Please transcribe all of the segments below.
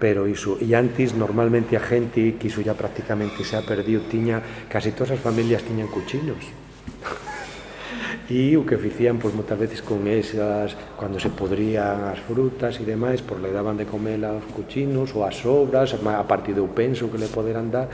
pero iso, e antes normalmente a gente, que iso ya prácticamente se ha perdido, tiña, casi todas as familias tiñan cuchinos. E o que ficían, pois, moitas veces con esas, cando se podrían as frutas e demais, pois le daban de comer aos cuchinos ou as sobras, a partir do penso que le poderan dar,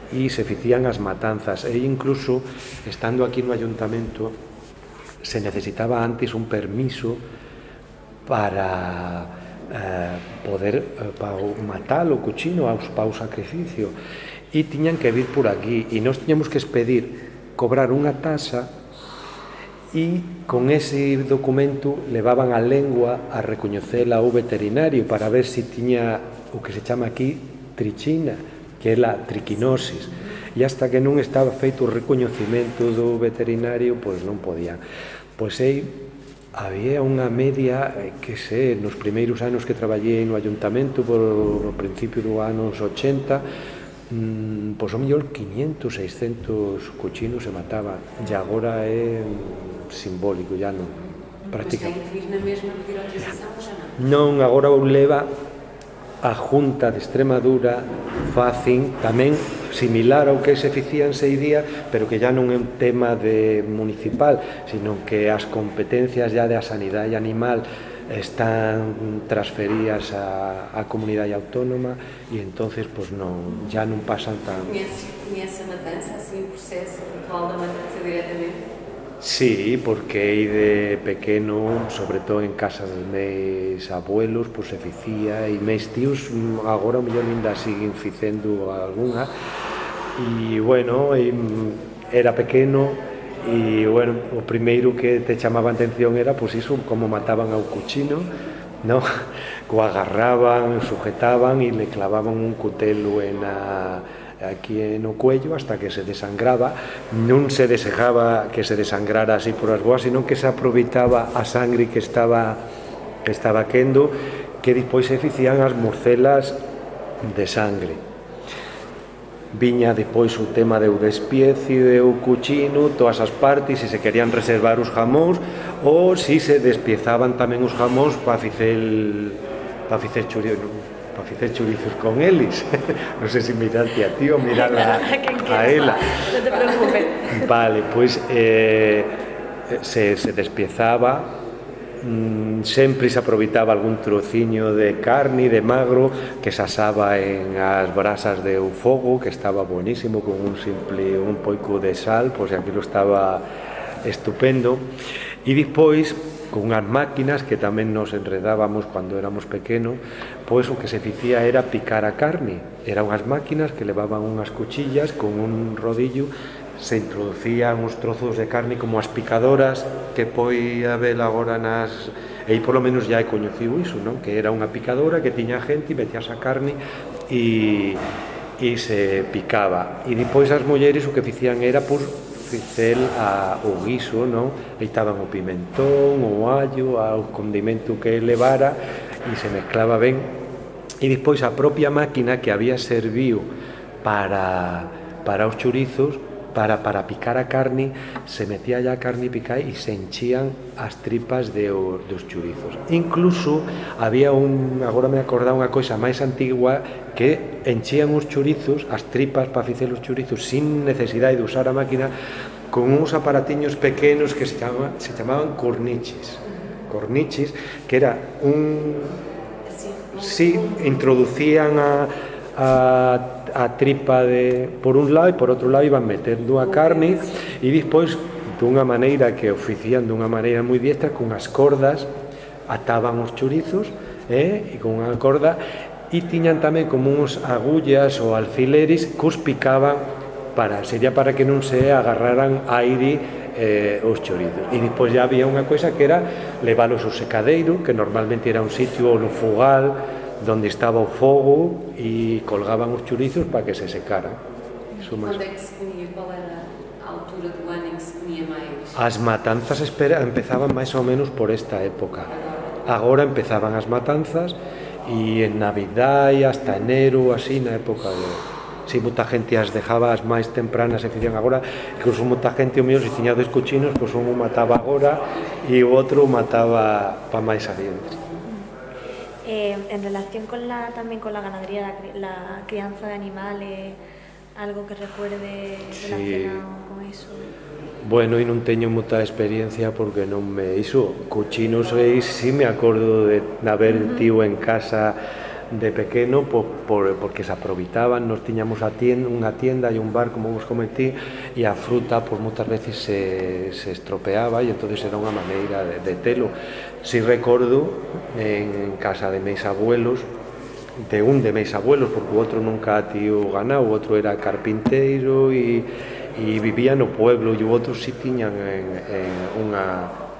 e se ficían as matanzas. E incluso, estando aquí no ayuntamento, se necesitaba antes un permiso para poder matar o cuchino para o sacrificio, e tiñan que vir por aquí, e nós tiñamos que expedir, cobrar unha tasa, e con ese documento levaban a lengua a recoñecela ao veterinario para ver se tiña o que se chama aquí trichina, que é a triquinosis, e hasta que non estaba feito o recoñecemento do veterinario, pois non podían. Pois había unha media, que sei, nos primeiros anos que traballei no ayuntamento, no principio dos anos 80, pois ao mellor 500, 600 cuchinos se mataban, e agora é simbólico, ya non. Mas ten que vir na mesma pedir autorización ou xa non? Non, agora o leva a Junta de Extremadura, facen tamén similar ao que se ficía en Seidía, pero que ya non é un tema municipal, sino que as competencias ya da sanidade animal están transferidas á comunidade autónoma, e entonces pues non, ya non pasan tan... Coñece a matanza, así o proceso ritual da matanza directamente? Sí, porque aí de pequeno, sobre todo en casa dos meus abuelos, pues se ficía, e meus tíos agora o mellor ainda siguen ficendo algunha, e bueno, era pequeno, e bueno, o primeiro que te chamaba a atención era pues iso, como mataban ao cuchino, no? O agarraban, sujetaban e le clavaban un cutelo aquí no cuello hasta que se desangraba. Non se desejaba que se desangrara así por as boas, senón que se aproveitaba a sangre que estaba quendo, que despois se ficían as morcelas de sangre. Viña depois o tema do despiece do cuchino, todas as partes, se se querían reservar os jamóns, ou se se despiezaban tamén os jamóns para facer chorizos con eles. Non sei se mirarte a ti ou mirar a ela. Non te preocupes. Vale, pois se despiezaba, sempre se aproveitaba algún trociño de carne, de magro, que se asaba en as brasas de fogo, que estaba buenísimo, con un pouco de sal, pois aquilo estaba estupendo. E despois, con unhas máquinas que tamén nos enredábamos cando éramos pequenos, pois o que se ficía era picar a carne. Eran unhas máquinas que levaban unhas cuchillas con un rodillo, se introducían uns trozos de carne como as picadoras que poi haber agora nas... E aí polo menos já é coñecido iso, non? Que era unha picadora que tiña gente e metías a carne e se picaba. E depois as mulleres o que ficían era por ficer o guiso, non? Leitaban o pimentón, o allo, o condimento que levara, e se mezclaba ben. E despois a propia máquina que había servido para os chorizos, para picar a carne, se metía ya a carne picada e se enchían as tripas dos chorizos. Incluso había agora me acordaba unha coisa máis antigua, que enchían os chorizos, as tripas para facer os chorizos sin necesidade de usar a máquina, con uns aparatiños pequenos que se chamaban corniches, que era sí, introducían a tripa por un lado, e por outro lado iban metendo a carne, e despois dunha maneira que o facían dunha maneira moi diestra, con as cordas ataban os chorizos, e con unha corda, e tiñan tamén como uns agullas ou alfileres que os picaban, sería para que non se agarraran aire os chorizos. E despois já había unha coisa que era leválos ao secadeiro, que normalmente era un sitio no fogal donde estaba o fogo, e colgaban os chorizos para que se secaran. Quando é que se comía? Qual era a altura do ano em que se comia máis? As matanzas empezaban máis ou menos por esta época. Agora empezaban as matanzas, e en Navidad e hasta enero, así, na época de... Si moita gente as dejaba as máis tempranas e facían agora, incluso moita gente o mío, se tiña 2 cochinos, pois un mataba agora e o outro mataba para máis adiante. en relación también con la ganadería, la crianza de animales, algo que recuerde relacionado con eso. Bueno, e non teño moita experiencia porque non me iso. Cochinos sí me acordo de haber tido en casa de pequeno porque se aproveitaban, nos tiñamos unha tienda e un bar, como vos comentí, e a fruta moitas veces se estropeaba e entonces era unha maneira de telo. Si recordo en casa de meus abuelos, de meus abuelos, porque o outro nunca tío ganado, o outro era carpinteiro e vivía no pueblo, e o outro si tiñan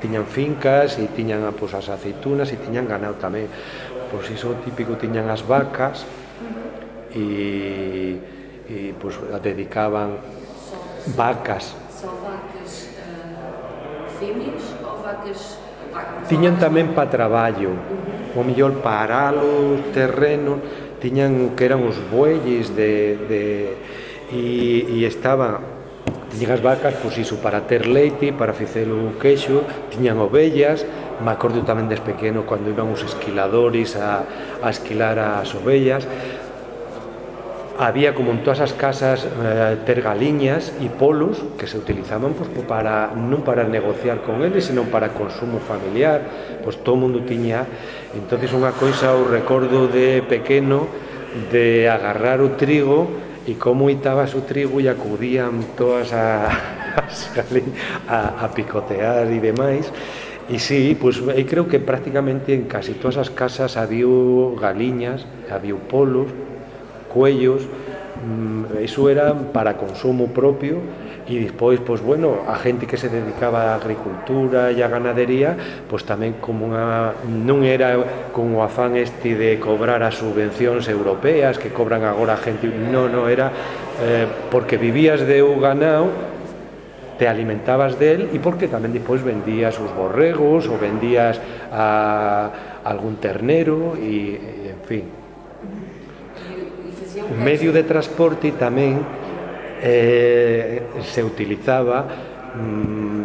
tiñan fincas e tiñan as aceitunas e tiñan ganado tamén. Pois iso típico, tiñan as vacas e dedicaban vacas. Só vacas fêmeas ou vacas... Tiñan tamén para traballo, o mellor para os terrenos, tiñan que eran os bueyes e estaban... Tiñan as vacas, pois iso, para ter leite, para facer o queixo, tiñan ovellas, me acordo tamén des pequeno cando iban os esquiladores a esquilar as ovellas. Había, como en todas as casas, ter galiñas e polos que se utilizaban non para negociar con eles, senón para consumo familiar, pois todo o mundo tiña. Entonces unha coisa o recordo de pequeno de agarrar o trigo e como itabas o trigo e acudían todas as a picotear e demais. E sí, pois creo que prácticamente en casi todas as casas había galiñas, había polos, cuellos, iso era para consumo propio. E despois, pois bueno, a gente que se dedicaba á agricultura e á ganadería, pois tamén como non era con o afán de cobrar as subvencións europeas que cobran agora a gente, non, era porque vivías de o ganado, te alimentabas del e porque tamén despois vendías os borregos ou vendías a algún ternero e en fin. O medio de transporte tamén se utilizaba,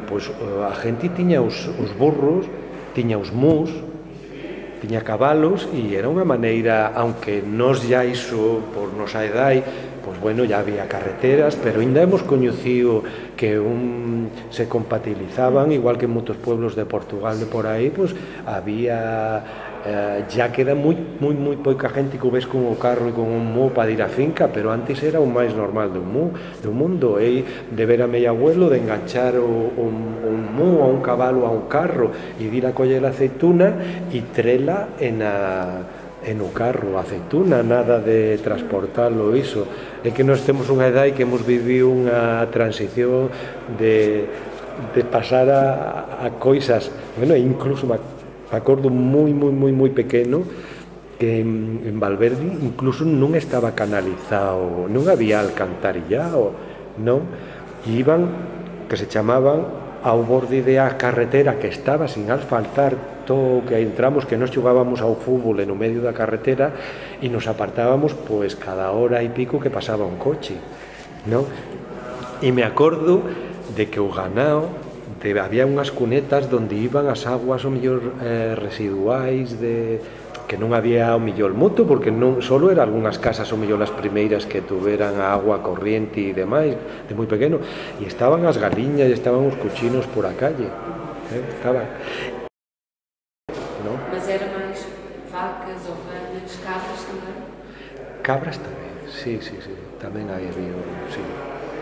pois a gente tiña os burros, tiña os mus, tiña cabalos e era unha maneira, aunque nos ya iso por nosa edade, pois bueno, ya había carreteras, pero ainda hemos coñecido que se compatibilizaban, igual que en moitos pueblos de Portugal de por aí, pois había ya queda moi pouca gente que o ves con o carro e con un mu para ir á finca, pero antes era o máis normal do mundo, de ver a meu abuelo de enganchar un mu a un cabalo a un carro e ir a coller a aceituna e trela en o carro, a aceituna, nada de transportalo, iso. É que nós temos unha edade que hemos vivido unha transición de pasar a coisas, bueno, incluso me acordo moi pequeno que en Valverde incluso non estaba canalizado, non había alcantarillado, non? E iban, que se chamaban ao borde da carretera que estaba sin asfaltar, todo que entramos, que nos xogábamos ao fútbol no medio da carretera e nos apartábamos pois cada hora e pico que pasaba un coche, non? E me acordo de que o ganado había unhas cunetas onde iban as aguas o mellor residuais que non había o mellor moito, porque non solo eran algunhas casas o mellor as primeiras que tuveran a agua corriente e demais, de moi pequeno, e estaban as galiñas e estaban os cochinos por a calle, estaban. ¿No? Mas era máis vacas, ovelhas, cabras tamén? Cabras tamén, sí, tamén había, sí.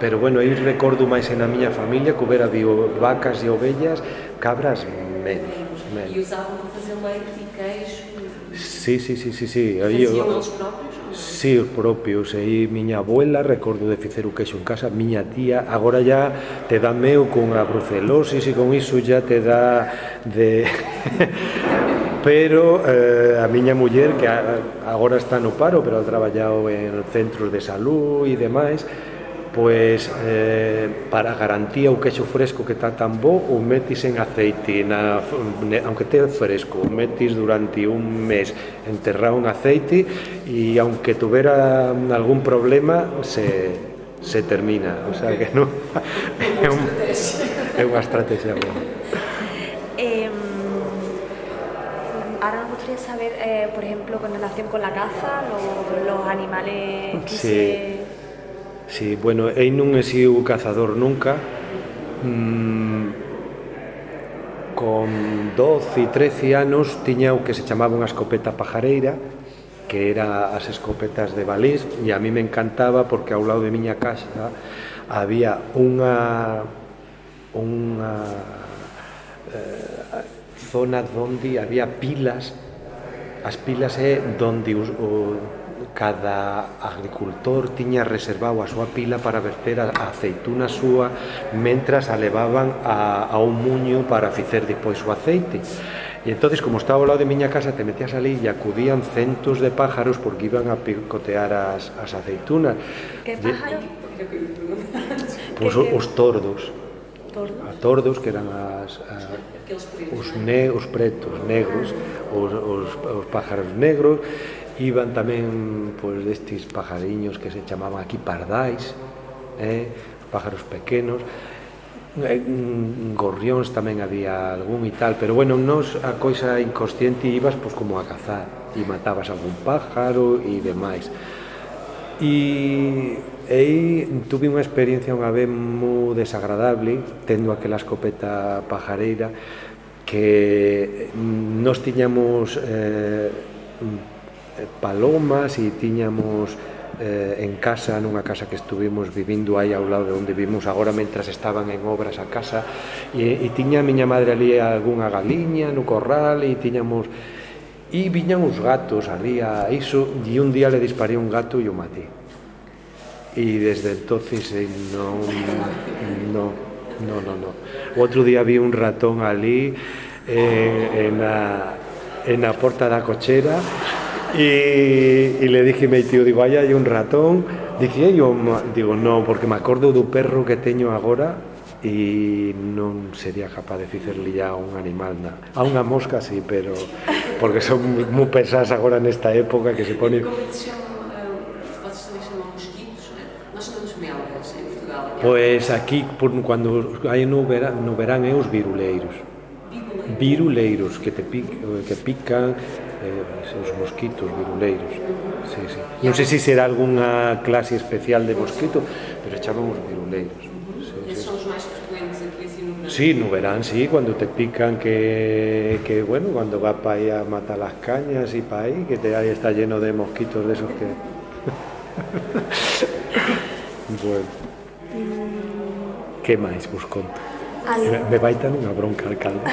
Pero bueno, aí recordo máis na miña familia que houbera vacas e ovellas, cabras menos. E usavam para fazer leite e queijo? Sí. Faziam eles próprios? Sí, os propios. Aí miña abuela, recordo de facer o queixo en casa, miña tía, agora ya te dá meo con a brucelosis e con iso ya te dá de... Pero a miña muller, que agora está no paro, pero ha traballado en centros de salud e demais, pois para garantía o queixo fresco que está tan bo, o metis en aceite, aunque te fresco, o metis durante un mes enterrado en aceite e aunque tuvera algún problema se termina, o sea que non é unha estrategia boa. Ahora me gustaría saber, por ejemplo, con relación con la caza, los animales que Sí. Sí, bueno, eu non he sido cazador nunca. Con 12 e 13 anos tiña o que se chamaba unha escopeta pajareira, que era as escopetas de balís, e a mí me encantaba porque ao lado de miña casa había unha zona onde había pilas. As pilas é onde cada agricultor tiña reservado a súa pila para verter a aceituna súa mentras a levaban a un muño para facer depois o aceite. E entonces, como estaba ao lado de miña casa, te metías ali e acudían centos de pájaros porque iban a picotear as aceitunas. Que pájaro? Pois os tordos. Tordos, que eran os pretos negros, os pájaros negros. Iban tamén pois, destes pajariños que se chamaban aquí pardais, pájaros pequenos, gorrións tamén había algún e tal, pero bueno, nos a coisa inconsciente ibas pois, como a cazar e matabas algún pájaro e demais. E aí tuve unha experiencia unha vez moi desagradable tendo aquela escopeta pajareira, que nos tiñamos palomas e tiñamos en casa, nunha casa que estuvimos vivindo aí ao lado de onde vivimos agora mentras estaban en obras a casa, e tiña a miña madre ali algunha galiña no corral e tiñamos, e viñan os gatos ali a iso, e un día le disparé un gato e o matei, e desde entonces non. O outro día vi un ratón ali en a porta da cochera. E le dije a meu tío, digo, aí hai un ratón. Dice, digo, non, porque me acordo do perro que teño agora e non sería capaz de ficerle a un animal, a unha mosca sí, pero porque son moi pesadas agora nesta época que se pone. Como se chama, vocês também chamam mosquitos, né? Nós chamamos melgas em Portugal. Pois aquí, cando hai no verán é os viruleiros. Viruleiros, que pican, os mosquitos viruleiros. Sí, sí. Non sei se será algunha clase especial de mosquito, pero chamamos viruleiros. Esses são os mais frequentes aqui assim no verão. Sí, no verán, sí, cuando te pican, que bueno, cuando vas para ahí a matar las cañas y para ahí, que ahí está lleno de mosquitos de esos que. Bueno. Que máis vos conto? Me vai dar unha bronca alcalde.